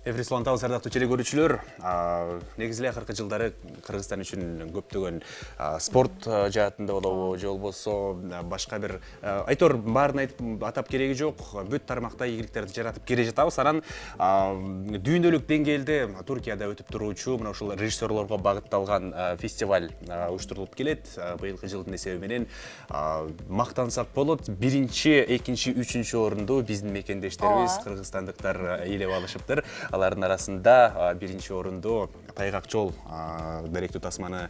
Эфирис улантабыз ардактуу теле көрүүчүлөр. Негизи эле акыркы жылдары Кыргызстан үчүн көптөгөн спорт жаатында болобу, же болбосо башка бир айтор баарын айтып атап кереги жок. Бүт тармакта ийгиликтерди жаратып келе жатабыз. Анан дүйнөлүк деңгээлде Туркияда өтүп туруучу мына ушул режиссерлорго багытталган фестиваль уюштурулуп келет. Быйылкы жылдын эсеби менен мактансак болот. Биринчи, экинчи, үчүнчү орунду биздин мекендештерибиз кыргызстандыктар ээлеп алышыптыр. Алардын арасында биринчи орунду Тайгак жол даректүү тасманы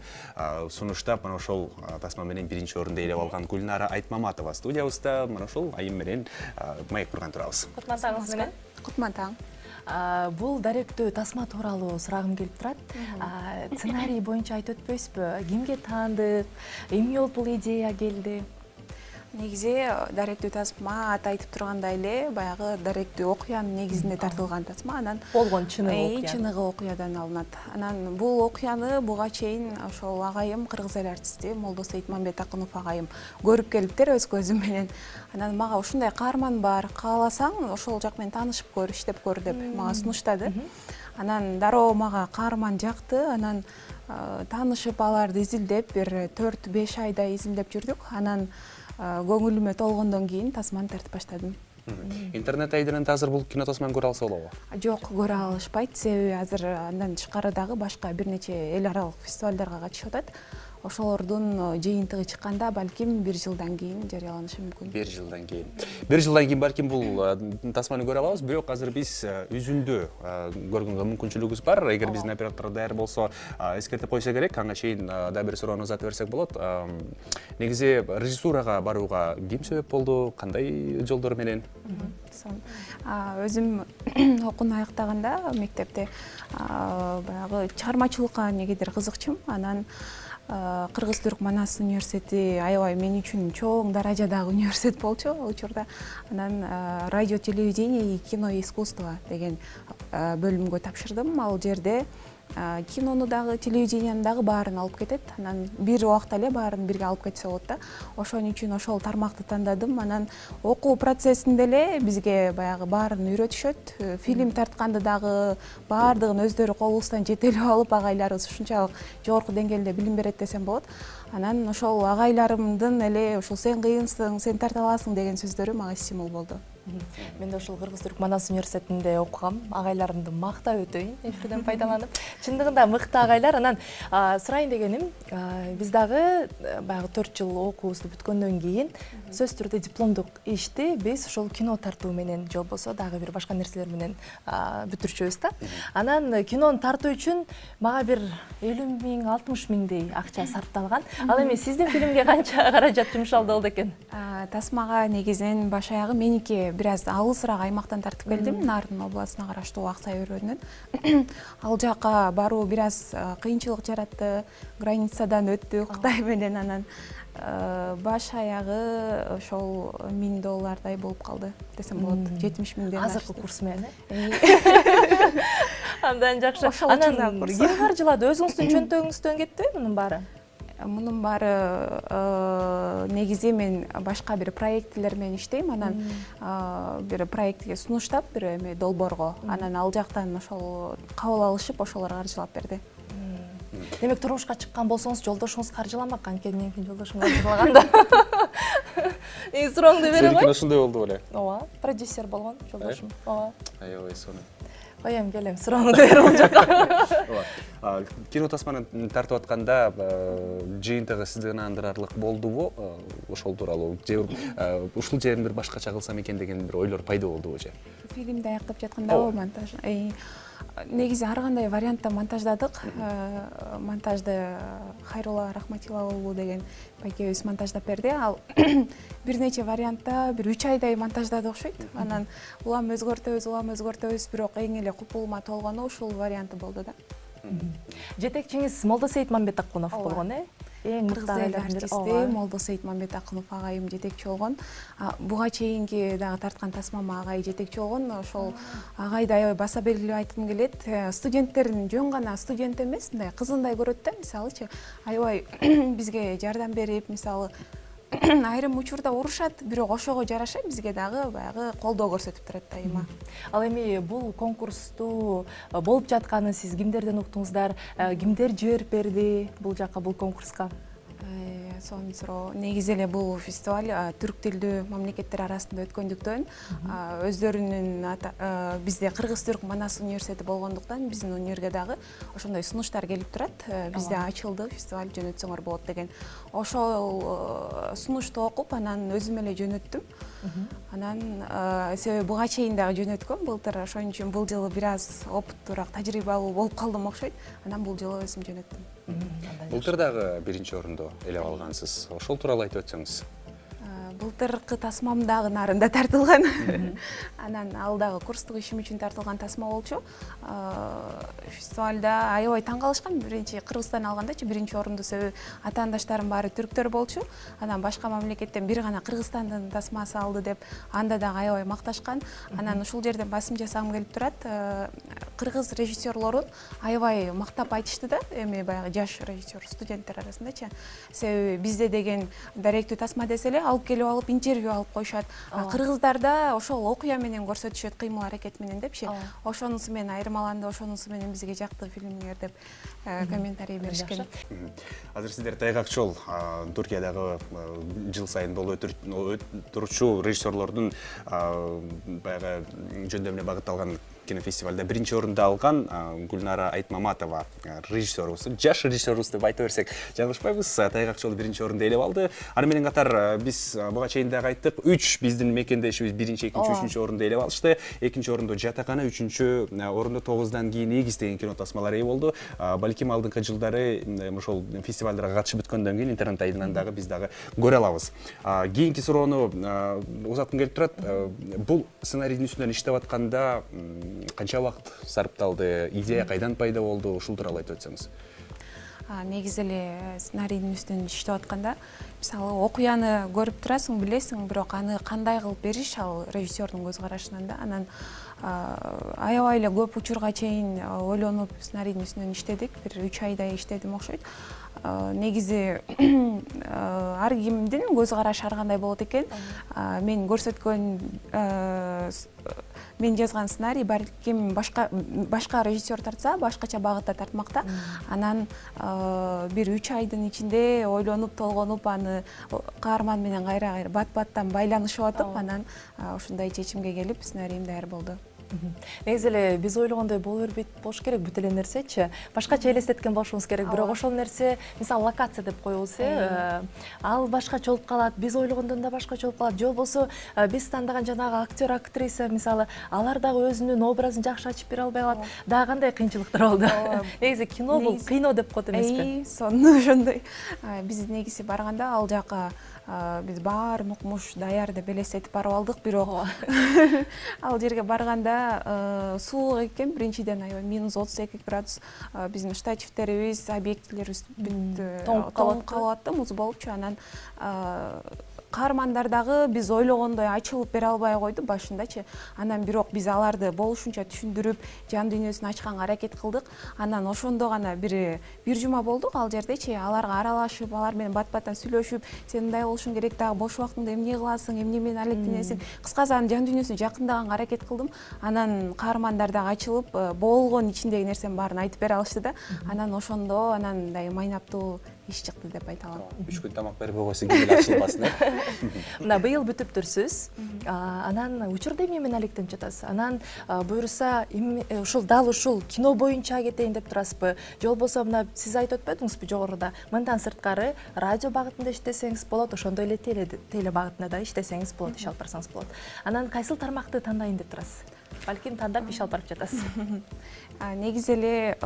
сунуштап, мына ошол тасма менен биринчи орунду ээлеп алган Гүлнара Айтмаматова студиябызда. Мына ошол айым менен маек курган турабыз. Кутман таңыңыз менен. Кутман таң. Бул даректүү тасма тууралуу сурагым келип турат. Сценарий боюнча айтып өтпөйсүзбү? Кимге таандык? Эмне болуп бул идея келди? Негизи даректүү тасма аты айтып тургандай эле баягы даректүү окуянын негизинде тартылган тасма. Анан болгон чыныгы окуядан алынат. Анан бул окуяны буга чейин ошол агайым кыргыз эл артисти Молдосейит Мамбетакунов агайым көрүп келиптир өз көзүм менен. Анан мага ушундай каарман бар, кааласаң ошол жак менен таанышып көр, иштеп көр деп мага сунуштады. Анан дароо мага каарман жакты. Анан таанышып аларды изилдеп бир 4-5 айдай изилдеп жүрдүк. Анан көңүлүмө толгондон кийин тасманы тартып баштадым. Интернет айдырында азыр бул кино тасманы көрө алса болобу? Жок, көрө алышпайт. Себеби азыр андан тышкары дагы башка бир нече эл аралык фестивалдарга катышып атат. Ошолордун жыйынтыгы чыкканда балким 1 жылдан кийин жарыяланышы мүмкүн. 1 жылдан кийин. 1 жылдан кийин балким бул тасманы көрө алабыз, бирок азыр биз үзүндү көргөнгө мүмкүнчүлүгүбүз бар. Эгер биздин оператор даяр болсо, эскертип койсо керек. Ага чейин да бир суроону узатып берсек болот. Негизи режиссурага барууга ким себеп болду? Кандай жолдор менен? Өзүм окууну аяктаганда мектепте баягы чыгармачылыкка негедир кызыкчумун. Анан Кыргыз-Түрк Манас университети аябай мен үчүн чоң даражадагы университет болчу ал учурда. Анан радио, телевидение и кино и искусство деген бөлүмгө тапшырдым. Ал жерде кинону дагы, телевиденияны дагы баарын алып кетет. Анан бир убакта эле баарын бирге алып кетсе болот да. Ошон үчүн ошол тармакты тандадым. Анан окуу процессинде эле бизге баягы баарын үйрөтүшөт. Фильм тартканды дагы баардыгын өздөрү колубуздан жетелеп алып, агайларыбыз ушунчалык жогорку деңгээлде билим берет десем болот. Анан ошол агайларымдын эле ушул сен кыйынсың, сен тарта аласың деген сөздөрү мага стимул болду. Мен да ошол Кыргыз-Түрк Манас университетинде окугам. Агайларымды мактап өтөйүн эфирден пайдаланып. Чындыгында мыкты агайлар. Анан сурайын дегеним, биз дагы баягы 4 жыл окуубузду бүткөндөн кийин сөзсүз түрдө дипломдук ишти биз ошол кино тартуу менен же болбосо дагы бир башка нерселер менен бүтүрчүбүз да. Анан кинону тартуу үчүн мага бир 50 миң, 60 миңдей акча сарпталган. Ал эми сиздин фильмге канча каражат жумшалды болду экен? Тасмага негизинен баш аягы меники бир аз алысыраак аймактан тартып келдим. Нарын областына караштуу Аксай өрөөнүнөн. Ал жака баруу бир аз кыйынчылык жаратты. Границадан өттүк Кытай менен. Анан баш аягы ошол $1000 болуп калды десем болот. 70 миңден азыркы курс менен. Андан жакшы. Анан ким каржылады? Өзүңүздүн чөнтөгүңүздөн кетти мунун баары? Мунун баары негизи мен башка бир проектлер менен иштейм. Анан бир проектке сунуштап бир эме долбоорго. Анан ал жактан ошол кабыл алышып, ошолор каржылап берди. Демек турмушка чыккан болсоңуз жолдошуңуз каржыламак, анткени менин жолдошум каржылаганда. Сурооңду бере кой. Сеники ушундай болду беле? Ооба, продюсер болгон жолдошум. Ооба. Аябай сонун. Коем, келем, сурооңду бере бул жака. Кино тасманы тартып атканда жыйынтыгы сизди ынандырарлык болдубу? Ошол тууралуу же ушул жерин бир башкача кылсам экен деген бир ойлор пайда болдубу же? Фильмди аяктап жаткандабы монтаж? Негизи ар кандай вариантта монтаждадык. Монтажды Хайрулла Рахматилла деген байкебиз монтаждап берди. Ал бир нече вариантта бир 3 айдай монтаждады окшойт. Анан улам өзгөртөбүз, бирок эң эле купулума толгону ушул варианты болду да. Жетекчиңиз Молдосейит Мамбетакунов болгон, Эң мыкты артисти Молдосейит Мамбетакунов агайым жетекчи болгон. Буга чейинки дагы тарткан тасмама агай жетекчи болгон. Ошол агайды аябай баса белгилеп айткым келет. Студенттерин жөн гана студент эмес, мындай кызындай көрөт да, мисалычы. Аябай бизге жардам берип, мисалы айрым учурда урушат, бирок ошого жараша бизге дагы баягы колдоо көрсөтүп турат дайыма. Ал эми бул конкурсту болуп жатканын сиз кимдерден уктуңуздар? Кимдер жиберип берди бул жакка, бул конкурска? Сонун суроо. Негизи эле бул фестиваль түрк тилдүү мамлекеттер арасында өткөндүктөн, өздөрүнүн бизде Кыргыз-Түрк Манас университети болгондуктан биздин универге дагы ошондой сунуштар келип турат. Бизде ачылды, фестиваль жөнөтсөңөр болот деген. Ошол сунушту окуп, анан өзүм эле жөнөттүм. Анан себеби буга чейин дагы жөнөткөм, былтыр ошон үчүн бул жылы бир аз опуттуураак, тажрыйбалуу болуп калдым окшойт. Анан бул жылы өзүм жөнөттүм. Былтыр дагы биринчи орунду ээлеп алгансыз. Ошол тууралуу айтып өтсөңүз. Былтыркы тасмам дагы нарында тартылган. Анан ал дагы курстук ишим үчүн тартылган тасма болчу. Фестивалда аябай таң калышкан. Биринчи Кыргызстан алгандачы биринчи орунду, себеби атаандаштарым баары түрктөр болчу. Анан башка мамлекеттен бир гана Кыргызстандын тасмасы алды деп анда дагы аябай макташкан. Анан ушул жерден басым жасагым келип турат. Кыргыз режиссерлорун аябай мактап айтышты да, эми баягы жаш режиссер студенттер арасындачы. Себеби бизде деген даректүү тасма десе эле алып келип алып интервью алып коюшат. Кыргыздарда ошол окуя менен көрсөтүшөт, кыймыл аракет менен депчи. Ошонусу менен айырмаланды, ошонусу менен бизге жакты фильмдер деп комментарий беришкен. Азыр сиздер Тайгак Чол Түркиядагы жыл сайын болуп турчу режиссерлордун баягы жөндөмүнө багытталган кинофестивалда биринчи орунду алган Гүлнара Айтмаматова режиссерубуз, жаш режиссерубуз деп айта берсек жаңылышпайбыз. Тайгак Чол биринчи орунду ээлеп алды. Аны менен катар биз буга чейин дагы айттык, 3 биздин мекендешибиз биринчи, экинчи, үчүнчү орунду ээлеп алышты. Экинчи орунду Жатакана, үчүнчү орунду 9-дан кийин Эгиз деген кино тасмалары ээ болду. Балким алдыңкы жылдары ошол фестивалдарга катышып өткөндөн кийин интернет айдынан дагы биз дагы көрө алабыз. Кийинки суроону узаткым келип турат. Бул сценарийдин үстүнөн иштеп атканда канча убакыт сарпталды, идея кайдан пайда болду, ушул тууралуу айтып өтсөңүз. Негизи эле сценарийдин үстүнөн иштеп атканда, мисалы окуяны көрүп турасың, билесиң, бирок аны кандай кылып бериш ал режиссердун көз карашынан да. Анан аябай эле көп учурга чейин ойлонуп сценарийдин үстүнөн иштедик. Бир 3 айдай иштедим окшойт. Негизи ар кимдин көз карашы ар кандай болот экен. Мен көрсөткөн мен жазган сценарий балким башка режиссер тартса, башкача багытта тартмакта. Анан бир 3 айдын ичинде ойлонуп, толгонуп, аны каарман менен кайра бат-баттан байланышып атып, анан ушундай чечимге келип, сценариym даяр болду. Негизи эле биз ойлогондой боло бербейт болуш керек, бүт эле нерсечи. Башкача элестеткен болушубуз керек, бирок ошол нерсе, мисалы локация деп коебуз, ал башкача болуп калат, биз ойлогондон да башкача болуп калат. Же болбосо биз тандаган жанагы актер, актриса, мисалы, алар дагы өзүнүн образын жакшы ачып бере албай калат. Дагы кандай кыйынчылыктар болду. Негизи кино бул кыйноо деп коет эмеспи? Сонун ошондой. Биз негизи барганда ал жака биз баарын укмуш даяр деп элестетип барып алдык, бирок ал жерге барганда суук экен, биринчиден аябай -32 градус. Биздин штативтерибиз, объективлерибиз тоң калып атты, муз болупчу. Анан каармандар дагы биз ойлогондой ачылып бере албай койду башындачы. Анан бирок биз аларды болушунча түшүндүрүп, жан дүйнөсүн ачканга аракет кылдык. Анан ошондо гана бир жума болдук ал жердечи, аларга аралашып, алар менен бат-баттан сүйлөшүп, сен мындай болушуң керек, дагы бош убактыңда эмне кыласың, эмне менен алектенесиң. Кыскасы анын жан дүйнөсүн жакындаганга аракет кылдым. Анан каармандар дагы ачылып, болгон ичиндеги нерсенин баарын айтып бере алышты да. Анан ошондо мындай майнаптуу иш чыкты деп айта алам. 3 күн тамак бербей койсо кимге ачылбасын, Мына быйыл бүтүптүрсүз. Анан учурда эмне менен алектенип жатасыз? Анан буюрса ушул дал ушул кино боюнча кетейин деп турасызбы? Же болбосо мына сиз айтып өтпөдүңүзбү жогоруда? Мындан сырткары радио багытында иштесеңиз болот, ошондой эле теле багытында да иштесеңиз болот, иш алып барсаңыз болот. Анан кайсыл тармакты тандайын деп турасыз? Балким тандап иш алып барып жатасыз. Негизи эле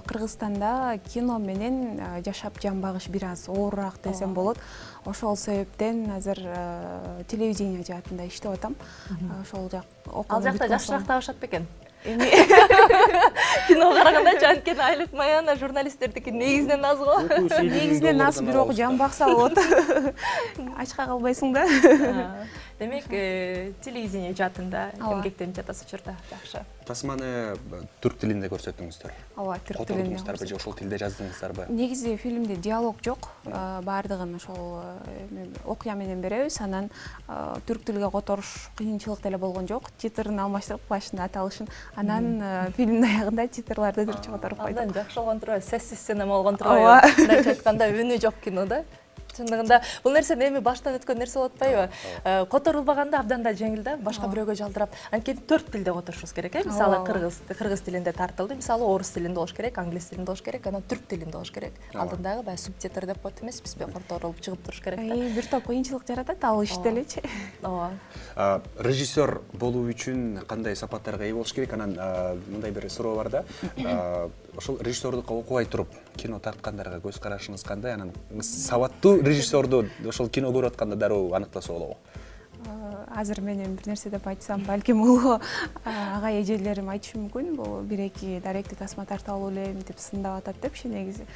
Кыргызстанда кино менен жашап жан багыш бир аз оорураак десем болот. Ошол себептен азыр телевидение жаатында иштеп атам. Ошол жак Ал жакта жакшыраак табышат бекен? Кино карагандачы, анткени айлык маяна журналисттердики негизинен аз го. Негизинен аз, бирок жан бакса болот. Ачка калбайсың да. Демек, телевидение жаатында эмгектенип жатасыз учурда. Жакшы. Тасманы түрк тилинде көрсөттүңүздөр. Ооба, түрк тилинде. Котордуңуздарбы же ошол тилде жаздыңыздарбы? Негизи фильмде диалог жок. Баардыгын ошол окуя менен беребиз. Анан түрк тилге которуш кыйынчылык деле болгон жок. Титрин алмаштырып башында аталышын. Анан фильмдин аягында титрларды дұрыс которуп койдук. Абдан жакшы болгон турбайбы? Сессиз синема болгон турбайбы? Мындайча айтканда үнү жок кинода. Чындыгында бул нерсе эми баштан өткөн нерсе болуп атпайбы? Которулбаганда абдан да жеңил да, башка бирөөгө жалдырап. Анткени 4 тилде которушубуз керек, мисалы кыргыз тилинде тартылды, мисалы орус тилинде болуш керек, англис тилинде болуш керек, анан түрк тилинде болуш керек. Алдындагы баягы субтитр деп коет эмеспизби, которулуп чыгып туруш керек да. Бир топ кыйынчылык жаратат ал иште элечи. Ооба. Режиссер болуу үчүн кандай сапаттарга ээ болуш керек? Анан мындай бир суроо бар да. Ошол режиссердукка окубай туруп кино тарткандарга көз карашыңыз кандай? Анан сабаттуу режиссерду ошол кино көрүп атканда дароо аныктаса болобу? Азыр менен бир нерсе деп айтсам, балким улуу ага эжелерим айтышы мүмкүн. Бул 1-2 даректи тасма тарта алуу эле мынтип сындап атат депчи негизи.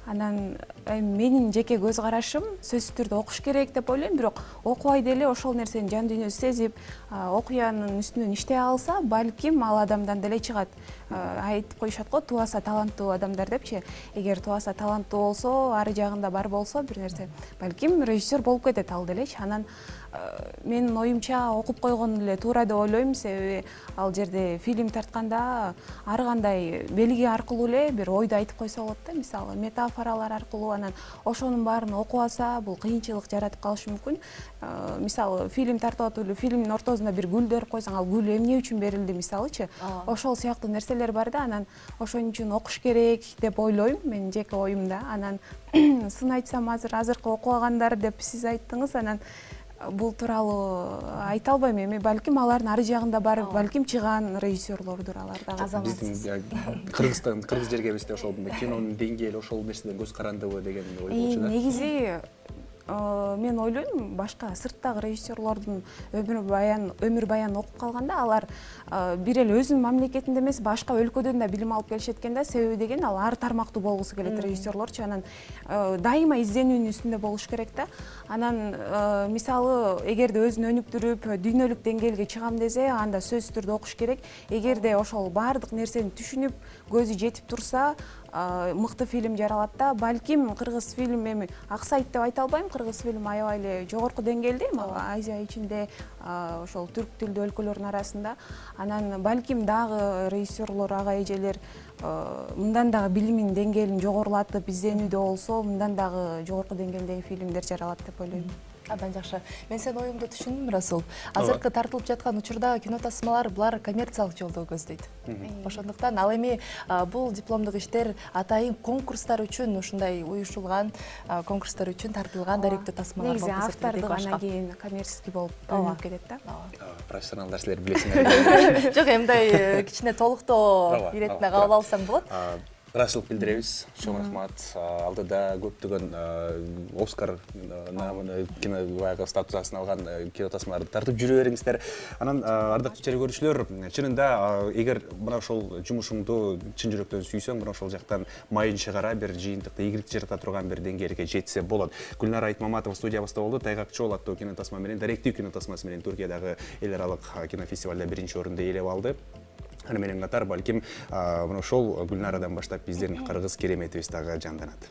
Анан менин жеке көз карашым сөзсүз түрдө окуш керек деп ойлойм, бирок окубай деле ошол нерсени жан дүйнөсү сезип, окуянын үстүнөн иштей алса, балким ал адамдан деле чыгат. Айтып коюшат го, тубаса таланттуу адамдар депчи. Эгер тубаса таланттуу болсо, ары жагында бар болсо бир нерсе, балким режиссер болуп кетет ал делечи. Анан менин оюмча окуп койгон эле туура деп ойлойм, себеби ал жерде фильм тартканда ар кандай белги аркылуу эле бир ойду айтып койсо болот да, мисалы метафоралар аркылуу. Анан ошонун баарын окуп алса, бул кыйынчылык жаратып калышы мүмкүн. Мисалы фильм тартып атып эле фильмдин ортосунда бир гүл берип койсоң, ал гүл эмне үчүн берилди мисалычы. Ошол сыяктуу нерселер бар да. Анан ошон үчүн окуш керек деп ойлойм, менин жеке оюмда. Анан сын айтсам, азыркы окубагандар деп сиз айттыңыз. Анан бул тууралуу айта албайм эми, балким алардын ары жагында бар, балким чыган режиссерлордур алар дагы. Биздин кыргыз жергебизде ошол кинонун деңгээли ошол нерседен көз карандыбы деген ой болчу да. Негизи мен ойлойм, башка сырттагы режиссерлордун өмүр баянын окуп калганда алар бир эле өзүнүн мамлекетинде эмес, башка өлкөдөн да билим алып келишет экен да. Себеби деген ал ар тармактуу болгусу келет режиссерлорчу. Анан дайыма изденүүнүн үстүндө болуш керек да. Анан мисалы эгерде өзүн өнүктүрүп, дүйнөлүк деңгээлге чыгам десе, анда сөзсүз түрдө окуш керек. Эгерде ошол баардык нерсени түшүнүп, көзү жетип турса, мыкты фильм жаралат да. Балким кыргыз фильм эми аксайт деп айта албайм, кыргыз фильм аябай эле жогорку деңгээлде, Азия ичинде, ошол түрк тилдүү өлкөлөрдүн арасында. Анан балким дагы режиссерлор, ага эжелер мындан дагы билимин деңгээлин жогорулатып, изденүүдө болсо, мындан дагы жогорку деңгээлдеги фильмдер жаралат деп ойлойм. Абдан жакшы. Мен сенин оюңду түшүндүм, Расул. Азыркы тартылып жаткан учурда кино тасмалар булар коммерциялык жолдо көздөйт. Ошондуктан ал эми бул дипломдук иштер атайын конкурстар үчүн ушундай уюшулган, конкурстар үчүн тартылган даректүү тасмалар болуп негизи автордук анан кийин коммерческий болуп бөлүнүп кетет да. Профессионалдар силер билесиңер. Жок, эмндай кичине толуктоо иретине кабыл алсаң болот. Ыраазычылык билдиребиз. Чоң рахмат. Алдыда көптөгөн Оскар кино баягы статусун алган кино тасмаларды тартып жүрө бериңиздер. Анан ардактуу чара көрүүчүлөр, чынында эгер мына ошол жумушуңду чын жүрөктөн сүйсөң, мына ошол жактан майын чыгара бир жыйынтыкты ийгилик жарата турган бир деңгээлге жетсе болот. Гүлнара Айтмаматова студиябызда болду. Тайгак Чоол аттуу кино тасма менен, даректүү кино тасмасы менен Түркиядагы эл аралык кинофестивалда 1-орунду ээлеп алды. Аны менен катар балким мына ошол Гүлнарадан баштап биздин кыргыз кереметибиз дагы жанданат.